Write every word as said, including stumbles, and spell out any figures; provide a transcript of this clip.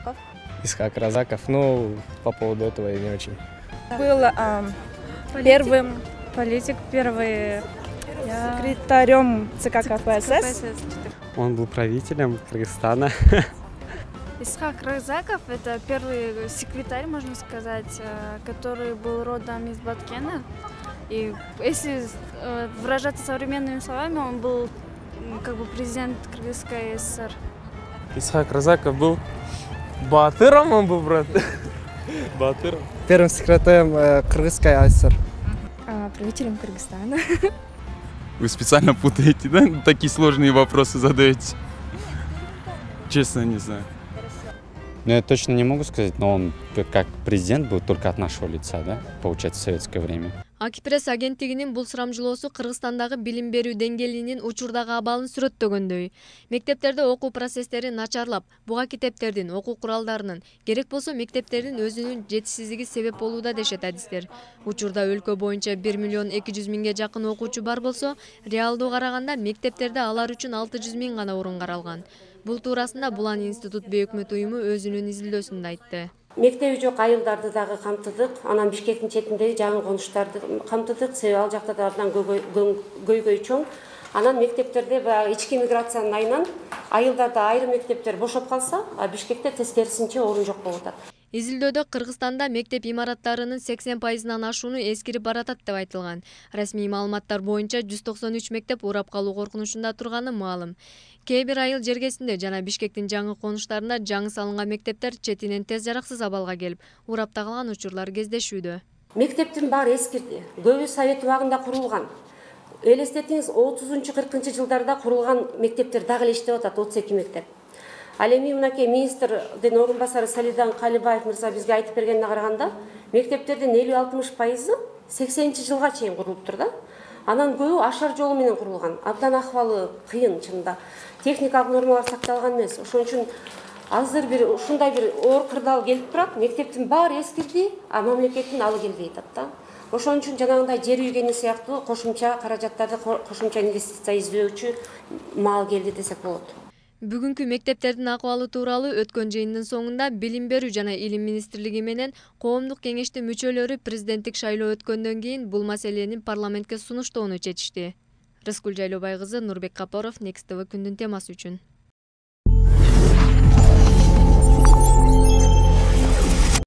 Разаков. Исхак Разаков, ну, по поводу этого я не очень. Был а, первым политик, первый я... секретарем ЦК КПСС. Он был правителем Кыргызстана. Исхак Разаков – это первый секретарь, можно сказать, который был родом из Баткена. И если выражаться современными словами, он был как бы президент Кыргызской ССР. Исхак Разаков был батыром, он был, брат. Батыром. Первым секретарем э, Кыргызской ССР. А, правителем Кыргызстана. Вы специально путаете, да? Такие сложные вопросы задаете. Честно, не знаю. Ну, я точно не могу сказать, но он как президент был только от нашего лица, да, получается, в советское время. Акипресс агенттигинин бул сурамжылоосу Кыргызстандагы билим берүү деңгээлинин учурдагы абалын сүрөттөгөндөй. Мектептерде окуу процесстери начарлап, буга китептердин, окуу куралдарынын, керек болсо мектептердин өзүнүн жетишсиздиги себеп болууда дешет адистер. Учурда өлкө боюнча бир миллион эки жүз миңге жакын окуучу бар болсо, реалдуу караганда мектептерде алар үчүн алты жүз миң гана орун каралган. Бул туурасында Булан институт бейөкмөт уюму өзүнүн изилдөөсүндө айтты. Мектеби жок айылдарды дагы камтыдык, анан Бишкектин четиндеги жаңы конуштарды камтыдык, себеби ал жакта да абдан көйгөй чоң. Анан мектептерде баягы ички миграциянын айынан айылдарда айрым мектептер бошоп калса, а Бишкекте тескерисинче орун жок болуп атат. Изилдөөдө Кыргызстанда мектеп имараттарынын сексен пайызынан ашууну эскирип баратат деп айтылган. Расмий маалыматтар боюнча жүз токсон үч мектеп урап калуу коркунучунда турганы маалым. Кээ бир айыл жергесинде жана Бишкектин жаңы конуштарында жаңы салынган мектептер четинен тез жараксыз абалга келип, урапта калган учурлар кездешүүдө. Мектептин баары эскирди. Көбү совет убагында курулган. Элестетиңиз, отузунчу кыркынчы жылдарда курулган мектептер дагы эле иштеп атат, отуз эки мектеп. Ал эми мынакей министрдин орун басары Салидан Калибаев мырза бизге айтып бергенине караганда, мектептердин элүү алтымыш пайызы сексенинчи жылга чейин курулуптур да. Анан көбү ашар жолу менен курулган. Абдан акыбалы кыйын чынында. Техникалык нормалар сакталган эмес. Ошон үчүн азыр бир ушундай бир оор кырдаал келип турат. Мектептин баары эскирди, а мамлекеттин алы келбей атат да. Ошон үчүн жанагындай жер үйгени сыяктуу кошумча каражаттарды, кошумча инвестиция издөөчү маал келди десек болот. Бүгүнкү мектептердин акыбалы тууралуу өткөн жыйындын соңунда Билим берүү жана Илим министрлиги менен коомдук кеңештин мүчөлөрү президенттик шайлоо өткөндөн кийин бул маселени парламентке сунуштоону чечишти. Рыскүл Жайлообай кызы, Нурбек Капоров, Next тэ вэ күндүн темасы үчүн.